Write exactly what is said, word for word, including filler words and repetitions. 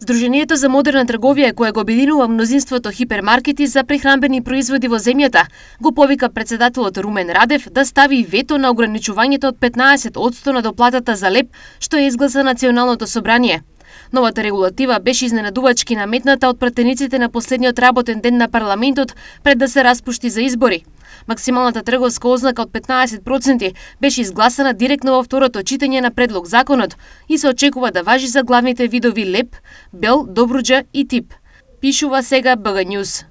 Сдруженијето за модерна трговија, кое го обединува мнозинството хипермаркети за прехранбени производи во земјата, го повика претседателот Румен Радев да стави вето на ограничувањето од петнаесет одсто на доплатата за леб, што е изгласа Националното собрание. Новата регулатива беше изненадувачки наметната од пратениците на последниот работен ден на парламентот пред да се распушти за избори. Максималната трговска ознака од петнаесет проценти беше изгласана директно во второто читање на предлог законот и се очекува да важи за главните видови леб, бел, добруџа и тип. Пишува сега БГ News.